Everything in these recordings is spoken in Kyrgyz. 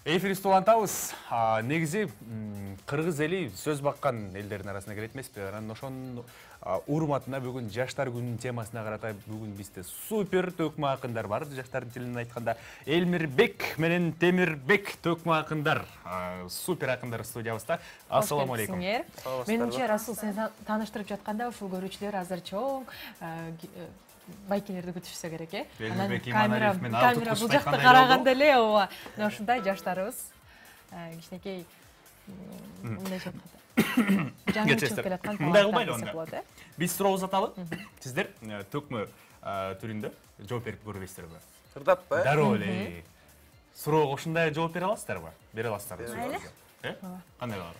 Эфиристи улантабыз. Негизи кыргыз эли сөз баккан элдердин арасына кирет эмеспи? Анан ошонун урматына бүгүн жаштар күнүнүн темасына карата бүгүн бизде супер төкмө акындар бар. Жаштардын тилинен айтканда Элмирбек менен Темирбек төкмө акындар. Супер акындар студиябызда. Ассаламу алейкум. Менимче Расул сени тааныштырып жатканда ушул көрүүчүлөр азыр чоң байкелерди күтүшсө керек, Анан камера бул жакта караганда эле ооба. Мына ушундай жаштарыбыз кичинекей мындай жаңы чыгып келаткан таланттар болот, Биз суроо узаталы. Сиздер төкмө түрүндө жооп берип көрбөйсүздарбы? Сырдаппы? Дароо эле. Суроого ушундай жооп бере аласыздарбы? Бере аласыздар. Кандай кылалы?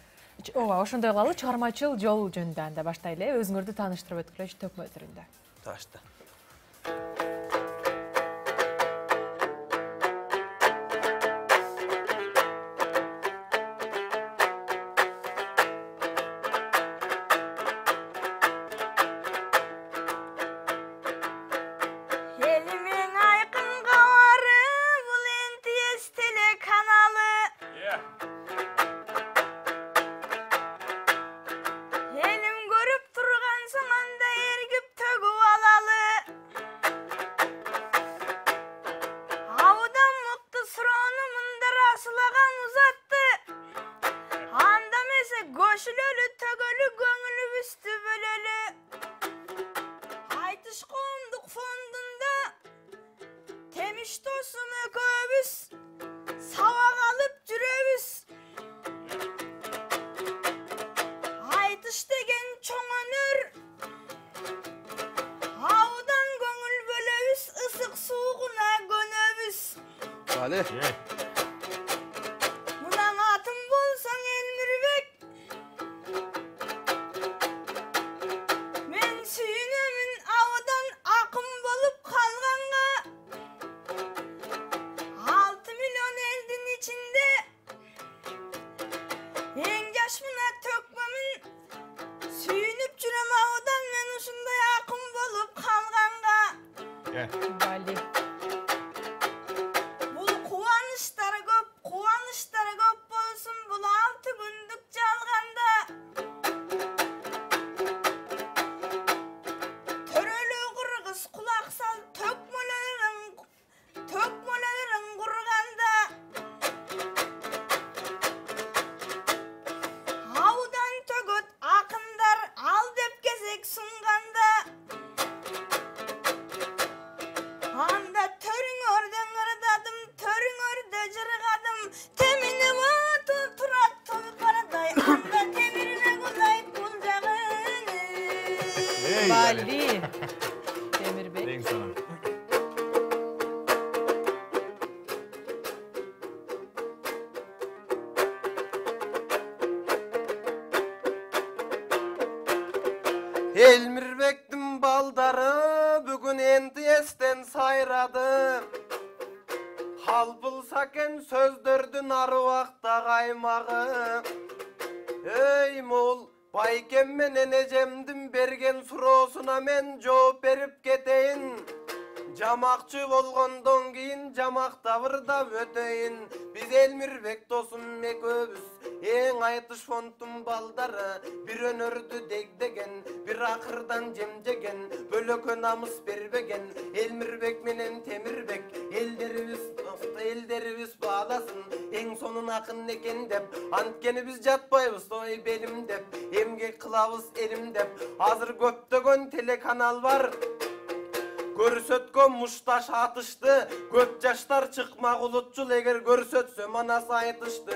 Ооба, ошондой кылалы. Чыгармачыл жол жөнүндө анда баштайлы. Өзүңөрдү тааныштырып өткүлөчү төкмө түрүндө. Ташты. Мунан атым болсаң Элмирбек, мен сүйүнөмүн абадан акым болуп калганга. 6 миллион элдин ичинде эң жаш мына төкмөмүн. Сүйүнүп жүрөм абадан мен ушундай акым болуп калганга. Бали. Bali. Temir Eң сонун. Элмирбектин балдары бүгүн энди эстен сайрады. Хал булса экен сөздөрдүн арыбакта каймагы. Эй мол, байкем менен эжемдин берген суроосуна мен жооп берип кетейин. Жамакчы болгондон кийин жамакта бырдап өтөйүн. Биз Элмирбек досум экөөбүз эң айтыш фондтун балдары. Бир өнөрдү дегдеген, бир акырдан жемжеген, бөлөкө намыс бербеген. Элмирбек менен Темирбек элдерибиз бааласын. Эң сонун акын экен деп, анткени биз жатпайбыз ой белим деп, эмгек кылабыз элим деп. Азыр көптөгөн телеканал бар. Көрсөткөн мушташ атышты, көп жаштар чыкмак улутчул эгер көрсөтсө манасы айтышты.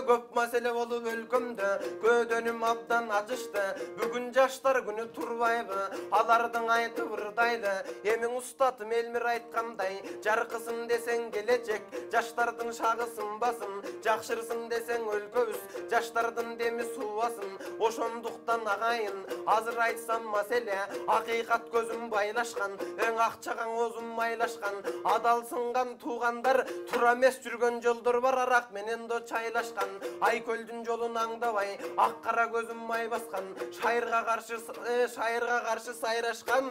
Көп маселе болуп өлкөмдө, көдөнүм абдан ачышты. Бүгүн жаштар күнү турбайбы, алардын айты ырдайды. Эмиң устатым Элмир айткандай, жаркысын десең келечек, жаштардын шагы сынбасын, жакшырсын десең өлкөбүз, жаштардын деми суубасын. Ошондуктан агайын, азыр айтсам маселе, акыйкат көзүм байлашкан. Эң акчаган оозум майлашкан, адалсынган туугандар, тура эмес жүргөн жолдор бар арак менен до чайлашкан. Айкөлдүн жолун аңдабай, ак кара көзүм май баскан, шайырга каршы сайрашкан.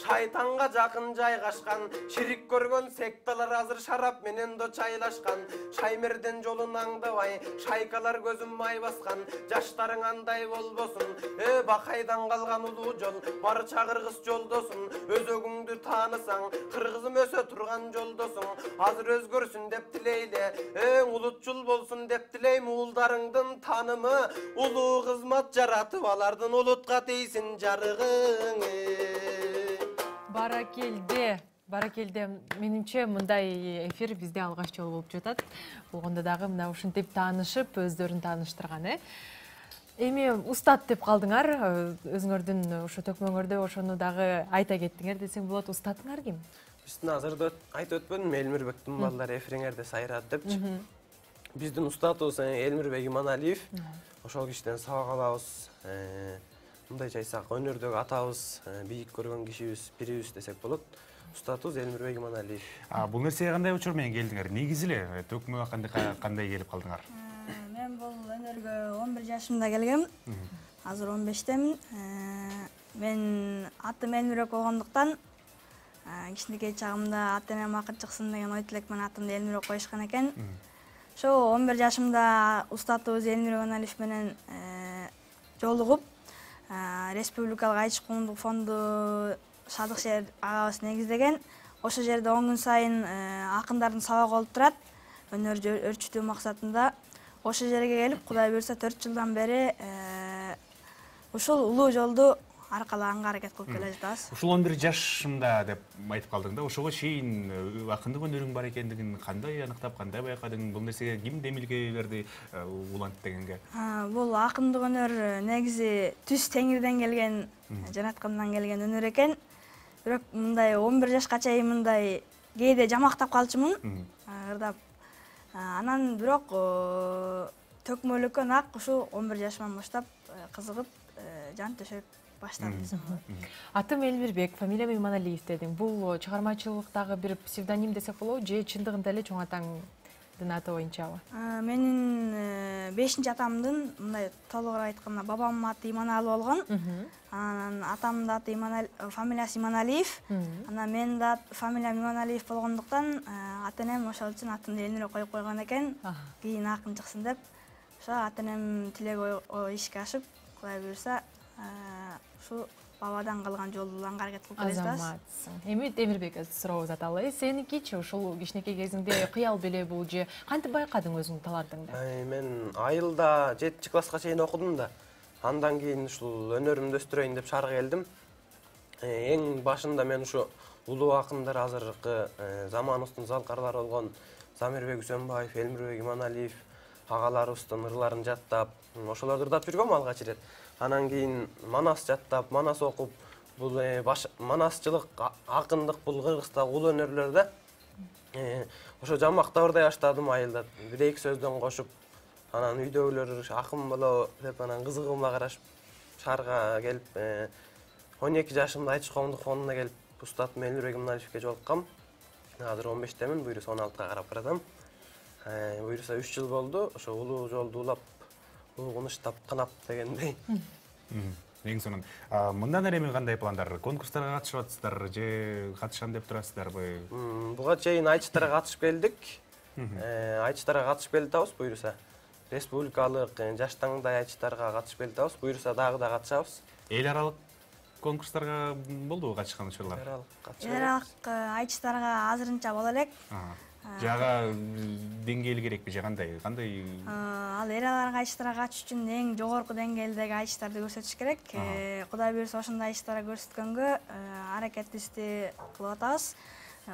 шайтанга жакын жайгашкан, ширик көргөн секталар азыр шарап менен до чайлашкан. Шаймерден жолун аңдабай, шайкалар көзүм май баскан. Жаштарың андай болбосун, бакайдан калган улуу жол, барча кыргыз жолдосун. Өзөгүңдү таанысаң, кыргызым өсө турган жолдосуң. Азыр өзгөрсүн деп тилейли, улутчул болсун деп тилейм. Уулдарыңдын таанымы, улуу кызмат жаратып, алардын улутка тийсин жарыгың. Баракелде, менимче мындай эфир бизде алгач жолу болуп жатат. Болгондо дагы мына ушинтип таанышып, өздөрүн тааныштырган, Эми устат деп калдыңар, өзүңөрдүн ошо төкмөңөрдө ошону дагы айта кеттиңер десең болот. Устатыңар ким? Биздин азырда айтып өтпөдүм, Элмирбектин балдары эфириңерде сайрады депчи. Биздин устатыбыз Элмирбек Иманалиев. Ошол кишиден сабак алабыз. Мындайча айтсак, өнөрдөгү атабыз, бийик көргөн кишибиз, бирибиз десек болот. Устатыбыз Элмирбек Иманалиев. Бул нерсеге кандай учур менен келдиңер? Негизи эле төкмөгө кандай келип калдыңар? Мен бул өнөргө 11 жашымда келгем. Азыр 15темин. Мен атым Элмирбек болгондуктан кичинекей чагымда ата-энем акыр чыксын деген ой тилек менен атымды Элмирбек коюшкан экен. Ошо 11 жашымда устатыбыз Элмирбек Иманалиев менен жолугуп, Республикалык Айчы коомдук фонду Шадыкшер агабыз негиздеген. Ошол жерде 10 күн сайын акындардын сабагы болуп турат. Өнөрдү өрчүтүү максатында. Ошол жерге келип, Кудай буйрса 4 жылдан бери ушул улуу жолду аркалаганга аракет кылып келе жатабыз. Ушул 11 жашымда деп айтып калдың да, ошого чейин акындык өнөрүң бар экендигин кандай аныктап, кандай байкадың? Бул нерсеге ким демилге берди улантып дегенге? Бул акындык өнөр негизи түз теңирден келген, жараткандан келген өнөр экен. Бирок мындай 11 жашка чейин мындай кээде жамактап калчумун, ырдап. Анан бирок төкмөлүккө нак ушу 11 жашыман баштап кызыгып, жан төшөп баштадым десем болот. Атым Элмирбек, фамилиям Иманалиев дедиң. Бул чыгармачылыктагы бир псевдоним десек болобу, же чындыгында эле чоң атаңдын аты боюнчабы? Менин 5-атамдын, мындай толугураак айтканда, бабамдын аты Иманалы болгон. Анан атамдын аты фамилиясы Иманалиев. Анан менин да фамилиям Иманалиев болгондуктан ата-энем ошол үчүн атымды Элмирбек коюп койгон экен. Кийин акын чыксын деп. Ошо ата-энем тилеги ишке ашып, Кудай буйрса, ушу бабадан калган жолдон аракет кылып келе жатабыз. Азаматсың. Эми Эмирбек сурообуз аталы. Сеникичи ушул кичинекей кезиңде кыял беле бул же кантип байкадың өзүңдүн талантыңды? Мен айылда 7-класска чейин окудум да. Андан кийин ушул өнөрүмдү өстүрөйүн деп шаарга келдим. Эң башында мен ушу улуу акындар азыркы заманыбыздын залкарлары болгон Замирбек Үсөнбаев, Элмирбек Иманалиев агаларыбыздын ырларын жаттап, ошолорду ырдап жүргөм алгач ирет. Анан кийин манас жаттап, манас окуп, бул манасчылык, акындык бул Кыргызстагы улуу өнөрлөр да. Ошо жамакта ырдай баштадым айылда. Бир-эки сөздөн кошуп, анан үйдөгүлөр акын болобу деп анан кызыгыма карашып шаарга келип, 12 жашымда Айчы коомдук фондуна келип, устатым Элмирбек Иманалиевке жолуккам. Азыр 15темин, буйруса 16га карап баратам. Буйруса 3 жыл болду, ошо улуу жолду улап, угунуштап, кынап дегендей. Эң сонун. Мындан эми кандай пландар? Конкурстарга катышып атасыздар же катышам деп турасыздарбы? Буга чейин айчтарга катышып келдик. Айчтарга катышып келатабыз, буйруса. Республикалык жаш таңдай айчтарга катышып келатабыз, буйруса дагы да катышабыз. Эл аралык конкурстарга болдубу катышкан учурлар? Эл аралык айчтарга азырынча боло элек. Жага деңгээли керекпи же кандай? Ал эл аралык айчтарга катыш үчүн эң жогорку деңгээлдеги айчтарды көрсөтүш керек. Кудай буйрса ошондой айчтарга көрсөткөнгө аракетибизди кылып атабыз.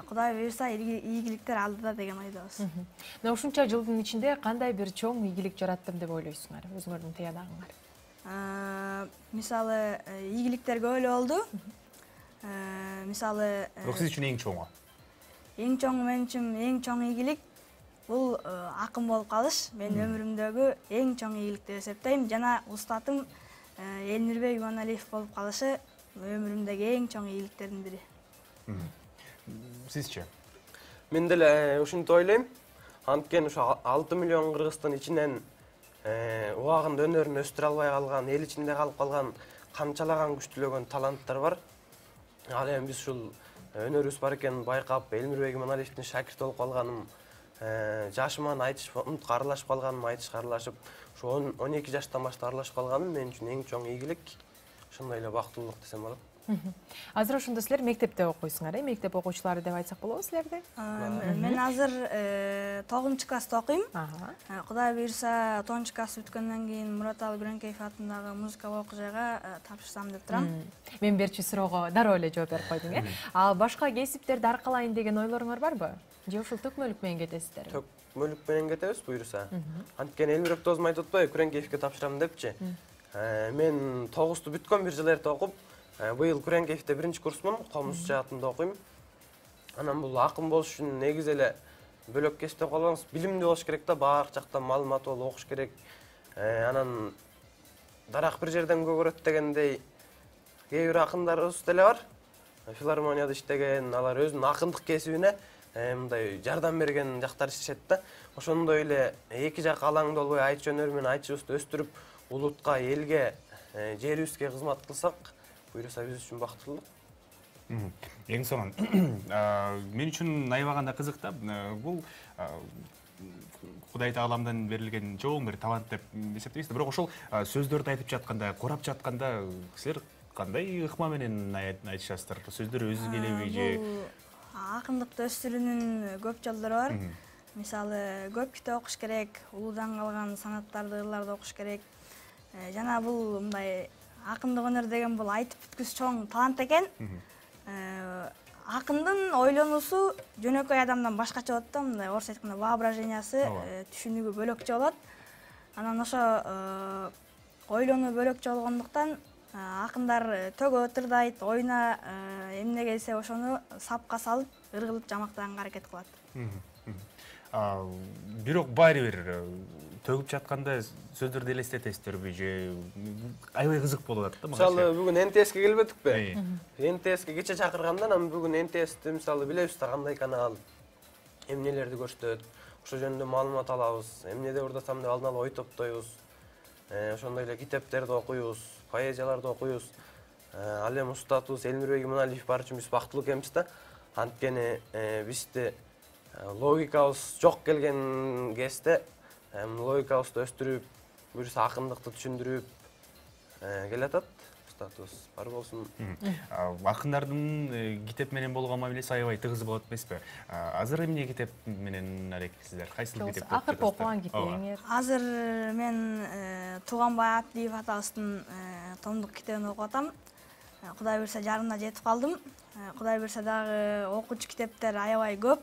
Кудай буйрса ийгиликтер алдыда деген ойдобуз. Мына ушунча жылдын ичинде кандай бир чоң ийгилик жараттым деп ойлойсуңар, өзүңөрдүн тыядагыңар? Мисалы, ийгиликтер көп эле болду. Мисалы, Бирок сиз үчүн эң чоңу? Эң чоңу мен үчүн эң чоң ийгилик бул акын болуп калыш. Мен өмүрүмдөгү эң чоң ийгилик деп эсептейм. Жана устатым Элмирбек Иманалиев болуп калышы өмүрүмдөгү эң чоң ийгиликтердин бири. Сизчи? Мен деле ушинтип ойлойм. Анткени ушу 6 миллион кыргыздын ичинен убагында өнөрүн өстүрө албай калган, эл ичинде калып калган канчалаган күчтүүлөгөн таланттар бар. Ал эми биз ушул өнөрүбүз бар экенин байкап, Элмирбек Иманалиевдин шакирти болуп калганым, жашыман айтыш фондко аралашып калганым, айтышка аралашып, ошо 12 жаштан баштап аралашып калганым мен үчүн эң чоң ийгилик, ошондой эле бактылуулук десем болот. Азыр ошондо силер мектепте окуйсуңар, мектеп окуучулары деп айтсак болобу силерди? Мен азыр 9 класста окуйм. Кудай буйрса 10 класс бүткөндөн кийин Мураталы Биренкеев атындагы музыкалык окуу жайга тапшырсам деп турам. Мен берчү суроого дароо эле жооп берип койдуң, А башка кесиптерди аркалайын деген ойлоруңар барбы? Же ушул төкмөлүк менен кетесиздер? Төкмөлүк менен кетебиз буйрса. Анткени Элмирбек досум айтып атпайбы, Күреңкеевке тапшырам депчи. Мен 9-ту бүткөн, бир жыл эрте окуп, быйыл Күреңкеевде 1-курсмун, комуз жаатында окуйм. Анан бул акын болуш үчүн негизи эле бөлөк кесип деп калбаңыз, билимдүү болуш керек да, баардык жактан маалымат болуп окуш керек. Анан дарак бир жерден көгөрөт дегендей кээ бир акындарыбыз деле бар. Филармонияда иштеген, алар өзүнүн акындык кесибине мындай жардам берген жактар иштешет да. Ошондой эле эки жак алаңда болбой айтыш өнөрү менен айтышыбызды өстүрүп, улутка, элге, жерибизге кызмат кылсак, буйрса биз үчүн бактылуулук. Эң сонун. Мен үчүн аябаганда кызык да. Бул Кудай Тааламдан берилген чоң бир талант деп эсептейбиз. Бирок ошол сөздөрдү айтып жатканда, корап жатканда силер кандай ыкма менен айтышасыздар? Сөздөр өзү келеби же? Акындыкты өстүрүүнүн көп жолдору бар. Мисалы, көп китеп окуш керек, улуудан калган санаттарды, ырларды окуш керек. Жана бул мындай акындык өнөр деген бул айтып бүткүс чоң талант экен. Акындын ойлонуусу жөнөкөй адамдан башкача болот да, мындай орус айтканда воображениясы, түшүнүгү бөлөкчө болот. Анан ошо ойлонуу бөлөкчө болгондуктан акындар төгө тырдайт, оюна эмне келсе ошону сапка салып, ыргылып жамактаганга аракет кылат. Бирок баары бир төгүп жатканда сөздөрдү элестетесиздерби же аябай кызык болуп атат да мага. Мисалы, бүгүн НТСке келбедикпи? НТСке кече чакырганда, анан бүгүн НТСти мисалы билебиз да кандай канал, эмнелерди көрсөтөт, ошо жөнүндө маалымат алабыз, эмнеде урдасам деп алдын ала ой топтойбуз. Ошондой эле китептерди окуйбуз, поэзияларды окуйбуз. Ал эми устатыбыз Элмирбек Иманалиев бар үчүн биз бактылуу экенбиз да. Анткени бизде логикабыз жок келген кезде логикабызды өстүрүп, буюрса акындыкты түшүндүрүп келатат. Устатыбыз бар болсун. Акындардын китеп менен болгон мамилеси аябай тыгыз болот эмеспи? Азыр эмне китеп менен алектисиздер? Кайсыл китеп? Акыркы окуган китебиңер? Азыр мен Тууганбай Абдиев атабыздын томдук китебин окуп атам. Кудай буйрса жарымына жетип калдым. Кудай буйрса дагы окуучу китептер аябай көп.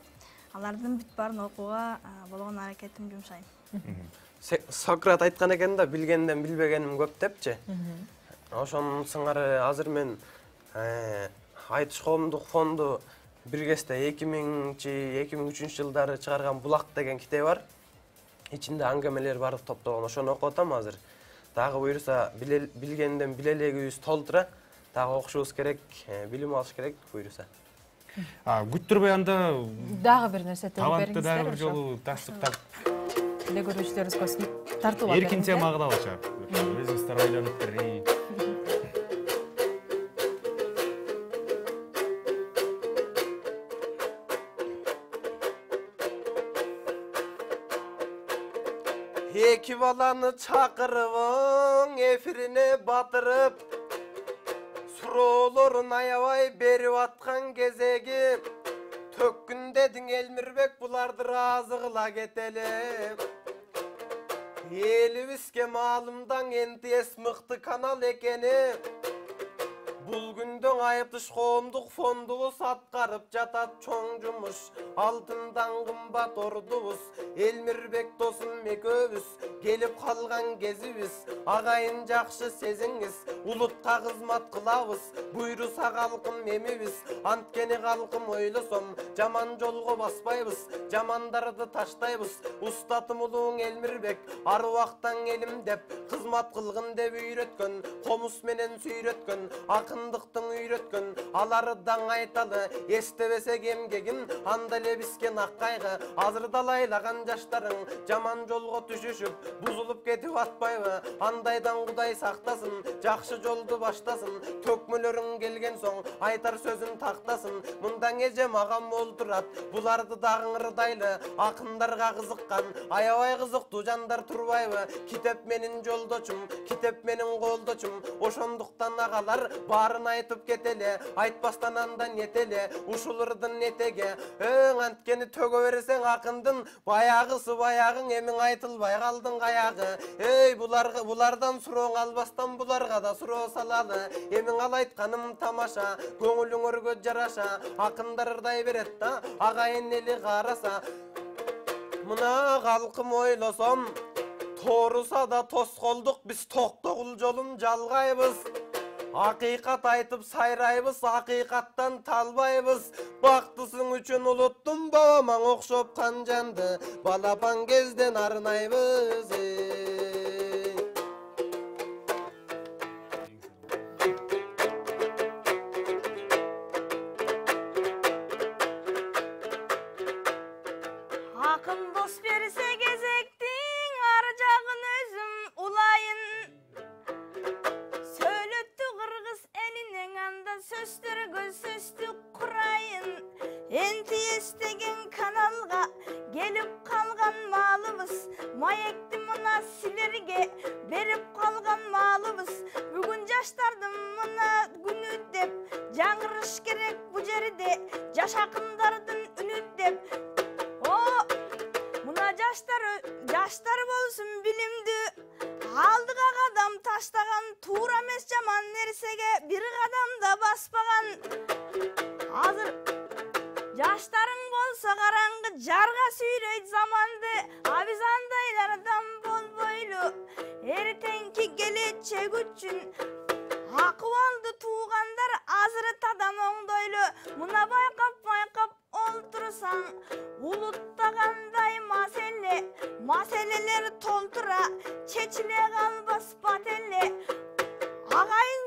Алардын бүт баарын окууга болгон аракетимди жумшайм. Сократ айткан экен да, билгенден билбегеним көп депчи. Ошонун сыңары азыр мен айтыш коомдук фонду бир кезде 2000-2003 жылдары чыгарган Булак деген китеби бар. Ичинде аңгемелер бар топтолгон. Ошону окуп атам азыр. Дагы буйрса билгенден билелегибиз толтура, дагы окушубуз керек, билим алыш керек буйрса. Күттүрбөй анда дагы бир нерсе төгүп бериңиздер. Талантты дагы бир жолу таштыктап эле көрүүчүлөрүбүзгө тартуулап бериңиз. Эркинче магдабыча. Өзүңүздөр ойлонуп бир. Эки баланы чакырып, эфирине батырып, суроолорун аябай берип аткан кезеги, төккүн дедиң Элмирбек, буларды ыраазы кыла кетели. Элибизге маалымдаң НТС мыкты канал экени, бул күндө айыптыш коомдук фондубуз аткарып жатат чоң жумуш. Алтындан кымбат ордубуз, Элмирбек досум экөөбүз, келип калган кезибиз, агайын жакшы сезиңиз, улутка кызмат кылабыз, буйруса калкым эмибиз. Анткени калкым ойлосом, жаман жолго баспайбыз, жамандарды таштайбыз. Устатым улууң Элмирбек, ар убактан элим деп, кызмат кылгын деп үйрөткөн, комуз менен сүйрөткөн, акындыктын үйрөткөн алары даң айталы эстебесек эмгегин анда эле бискен ак кайгы азыр далайлаган жаштарың жаман жолго түшүшүп бузулуп кетип атпайбы андайдан Кудай сактасын жакшы жолду баштасын төкмөлөрүң келген соң айтар сөзүн тактасын мындаң эжем агам олтурат буларды дагы ырдайлы акындарга кызыккан аябай кызыктуу жандар турбайбы китеп менин жолдочум китеп менин колдочум ошондуктан агалар баарын айтып кетеле айтпастан андан этеле ушул ырдын этеге анткени төгө берсең акындын баягысы баягың эмиң айтылбай калдың каягы булардан сурооң албастан буларга да суроо салалы эмиң ал айтканым тамаша көңүлүңөргө жараша акындар ырдай берет да агайын эли караса мына калкым ойлосом тооруса да тоскоолдук биз токтогул жолун жалгайбыз акыйкат айтып сайрайбыз акыйкаттан талбайбыз бактысың үчүн улуттум бабамаң окшоп канжанды балапан кезден арнайбыз Акын дос берсе кезектин ар жагын өзүм улайын сөйлөттү кыргыз элинен анда сөздөргө сөздү курайын энти эстеген каналга келип калган маалыбыз маекти мына силерге берип калган маалыбыз бүгүн жаштардын мына күнү деп жаңырыш керек бу жерде жаш акындардын үнү деп жаштар болсун билимдүү алдыга кадам таштаган туура эмес жаман нерсеге бир кадам да баспаган азыр жаштарың болсо караңгы жарга сүйрөйт заманды а биз андайлардан болбойлу эртеңки келечек үчүн акыбалды туугандар азыр тадам оңдойлу мына байкап олтурсаң улутта кандай маселелер толтура чечиле калбас бателе агайын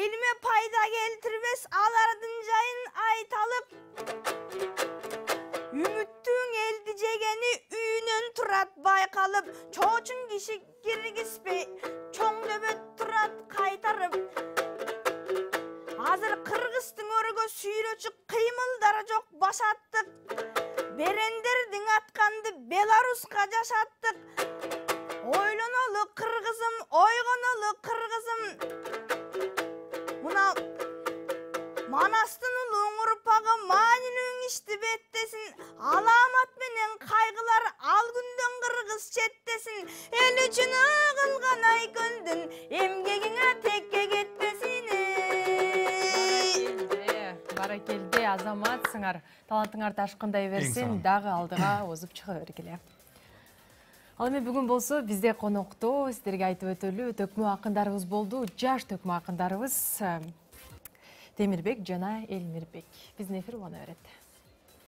элиме пайда келтирбес алардын жайын айталып үмүттүң элди жегени үйүнөн турат байкалып чоочун киши киргизбей чоң дөбөт турат кайтарып азыр кыргыздын өргө сүйрөчү кыймылдары жок башаттык берендердин атканды Беларуска жашаттык ойлонолу кыргызым ойгонолу кыргызым мына манастын улуң урпагы маанилүүң ишти беттесин аламат менен кайгылар ал күндөн кыргыз четтесин эл үчүн кылган айкөндүн эмгегиңе текке кетпесин баракелде азаматсыңар талантыңар ташкындай берсин дагы алдыга озуп чыга бергиле. Ал эми бүгүн болсо бизде конокто сиздерге айтып өтөлү төкмө акындарыбыз болду. Жаш төкмө акындарыбыз Темирбек жана Элмирбек. Биздин эфир улана берет.